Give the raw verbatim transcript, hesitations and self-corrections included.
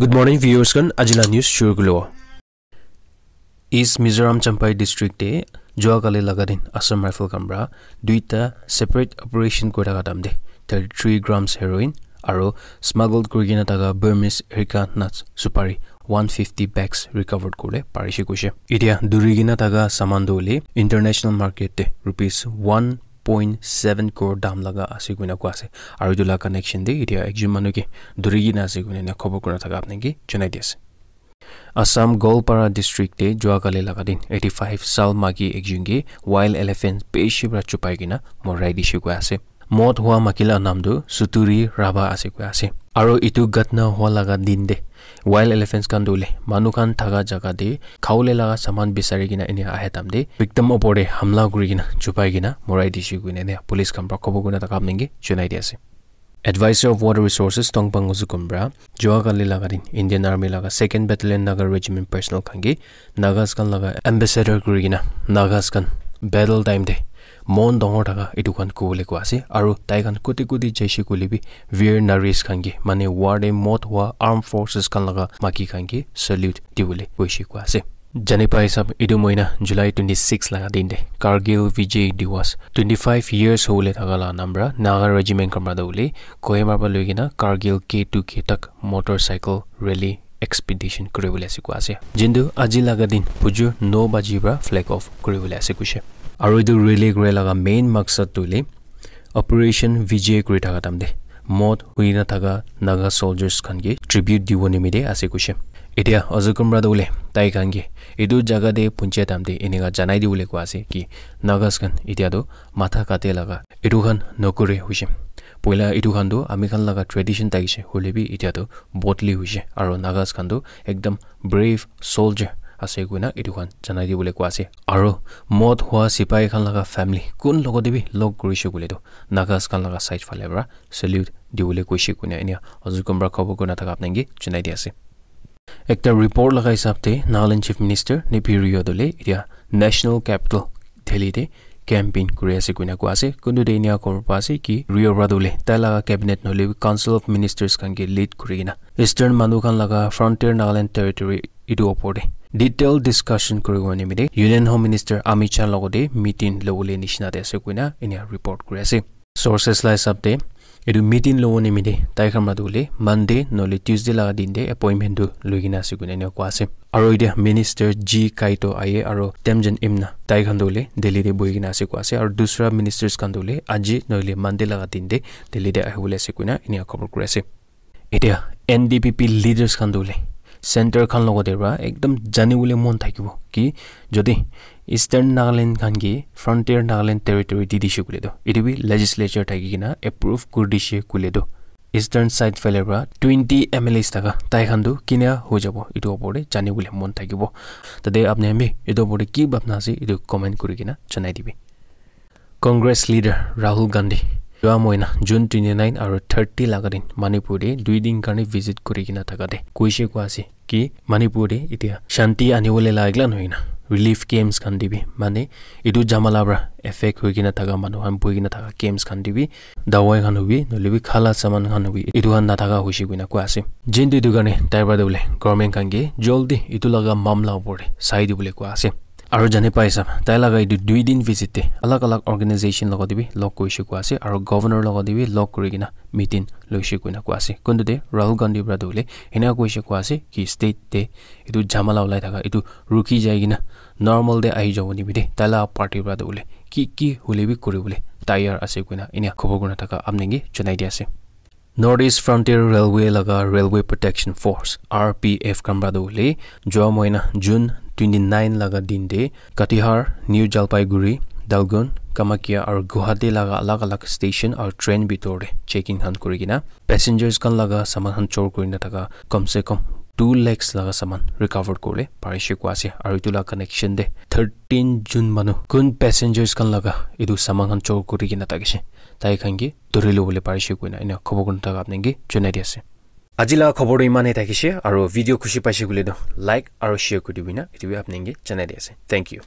Good morning, viewers khan. Ajila news shuru kulo. East Mizoram Champhai district te jua kali laga din Assam Rifle khan pra duita separate operation kuri thaka time te thirty-three grams heroin aro smuggled kuri kena thaka Burmese Erica nuts supari one fifty bags recovered kure parishe kuishe. Itia duri kena thaka saman tu hoile international market te rupees one point seven crore dam laga ase kuina koi ase. Aro etu la connection te itia ekjon manu ke duri kena ase kuina ena khobor kura thaka apni ke janai di ase. Assam Goalpara district te jua kali laga din eighty-five sal maki ekjon ke wild elephant bishi pra chupai kena morai dishe koi ase. Mot hua maki la nam tu Suturi Raba ase koi ase. Aro etu ghatna hua laga din te wild elephants khan tu hoile manu khan thaka jaga te khawole laga saman bisari kena ene ahe time te victim opor te hamla kuri kena chupai kena morai dishe kuina ene police khan pra khobor kurina thaka apni ke janai di ase. Advisor of Water Resources Tongpang Uzukum pra jua kali laga din Indian Army laga second Battalion Naga Regiment personnel khan ke Nagas khan laga ambassador kuri kena Nagas khan battle time te mon dangor thaka etu khan kobole koi ase aro tai khan kote kote jaise koile bi veer naris khan ke mane war te mot hua armed forces khan laga maki khan ke salute dibole koishe koi ase. Jani pai sab etu moina July twenty-six laga din te Kargil Vijay Diwas twenty-five years hole thaka la nam pra Naga regiment khan pra tu hoile Kohima pra loi kena Kargil K two K tak motorcycle rally expedition kuri bole ase koi ase. Jintu aji laga din bujur no baji pra flag off kuri bole ase kuishe. Aro etu rally kuri laga main maksad tu hoile Operation Vijay kuri thaka time te mot hui na thaka Naga soldiers khan ke tribute dibo nimite ase kuishe. Itia Uzukum pra tu hoile tai khan ke etu jaga te punche time te eneka janai dibole koi ase ki Nagas khan itia tu matha kate laga etu khan nokore hoishe. Poila etu khan tu ami khan laga tradition thakishe hoile bi itia tu bodli hoishe aro Nagas khan tu ekdam brave soldier ase kuina etu khan janai dibole koi ase. Aro mot hua sipai khan laga family kun logote bi log kurishe koile tu Nagas khan laga side phale pra salute dibole koishe kuina enia Uzukum pra khobor kurina thaka apni ke janai di ase. Ekta report laga hisab te Nagaland Chief Minister Neiphiu Rio tu hoile itia National Capital Delhi te campaign kuri ase kuina koi ase. Kuntu te enia khobor pa ase ki Rio pra tu hoile tai laga cabinet nohoile bi Council of Ministers khan ke lead kuri kena Eastern manu khan laga Frontier Nagaland Territory etu opor te detail discussion kuri bo nimite Union Home Minister Amit Shah logote meeting lobole nishina te ase kuina enia report kuri ase. Sources la hisab te etu meeting lobo nimite tai khan pra tu hoile Monday nohoile Tuesday laga din te appointment tu loi kena ase kuina enia koi ase. Aro itia Minister G Kaito aye aro Temjen Imna tai khan tu hoile Delhi te bohi kena ase koi ase aro dusra ministers khan tu hoile aji nohoile Monday laga din te Delhi te ahi bole ase kuina enia khobor kuri ase. Itia N D P P leaders khan tu hoile center khan logote pra ekdam jani bole mon thakibo ki jodi Eastern Nagaland khan ke Frontier Nagaland Territory di dishe koile tu etu bi legislature thaki kena approve kuri dishe koile tu Eastern side phale pra twenty M L As thaka tai khan tu kina hoi jabo etu opor te jani bole mon thakibo. Tate apni khan bi etu opor te ki bhabna ase etu comment kuri kena janai dibi. Congress leader Rahul Gandhi jua moina June twenty-nine aro thirty laga din Manipur te dui din karne visit kuri kena thaka te koishe koi ase ki Manipur te itia shanti ani bole la ekla nohoi na relief camps khan te bi mane etu jamala pra affect hoi kena thaka manu khan bohi kena thaka camps khan te bi dawai khan hobi nohoile bi khala saman khan hobi etu khan nathaka hoishe kuina koi ase. Jintu etu karne tai pra tu hoile government khan ke joldi etu laga mamla opor te sai dibole koi ase. Aro jani pai sab tai laga etu dui din visit te alag alag organization logote bi log kurishe koi ase aro governor logote bi log kuri kena meeting loishe kuina koi ase. Kuntu te Rahul Gandhi pra tu hoile enia koishe koi ase ki state te etu jamala ulai thaka etu rukhi jai kena normal te ahi jabo nimite tai la party pra tu hoile ki ki hoile bi kuri bole tayar ase kuina enia khobor kurina thaka apni ke janai di ase. North East Frontier Railway laga Railway Protection Force, R P F khan pra tu hoile jua moina June twenty-nine laga din te Katihar, New Jalpaiguri, Dalgun, Kamakhya aru Guwahati laga alag alag station aru train bitor te checking khan kuri kena passengers khan laga saman khan chor kuri na thaka kam se kam two lakhs laga saman recover kuribole parishe koi ase aru etu laga connection te thirteen jon manu kun passengers khan laga etu saman khan chor kuri kena thakishe tai khan ke dhori lobole parishe koina ena khobor khan thaka apni ke janai di ase. Aji laga khobor tu iman e thakishe, aru video khushi paishe koile tu like aru share kuri dibi na, etu bi apni ke janai di ase. Thank you.